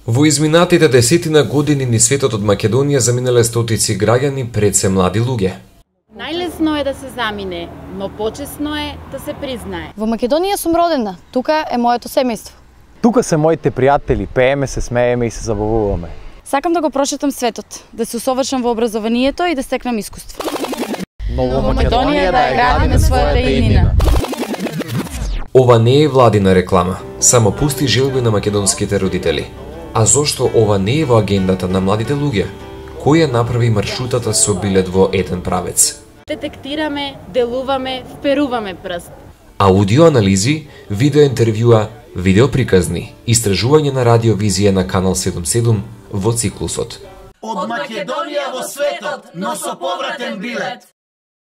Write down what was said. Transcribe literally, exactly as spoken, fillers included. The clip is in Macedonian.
Во изминатите десетина години низ светот од Македонија заминале стотици граѓани, пред се млади луѓе. Најлесно е да се замине, но почесно е да се признае. Во Македонија сум родена, тука е моето семејство. Тука се моите пријатели, пееме, се смееме и се забавуваме. Сакам да го прошетам светот, да се усовршам во образованието и да стекнам искуство. Но во Македонија да ја градиме својата иднина. Ова не е владина реклама, само пусти желби на македонските родители. А зошто ова не е во агендата на младите луѓе? Кој ја направи маршрутата со билет во еден правец? Детектираме, делуваме, вперуваме прст. Аудиоанализи, видеоинтервјуа, видеоприказни, истражување на радиовизија на Канал седумдесет и седум во циклусот. Од Македонија во светот, но со повратен билет.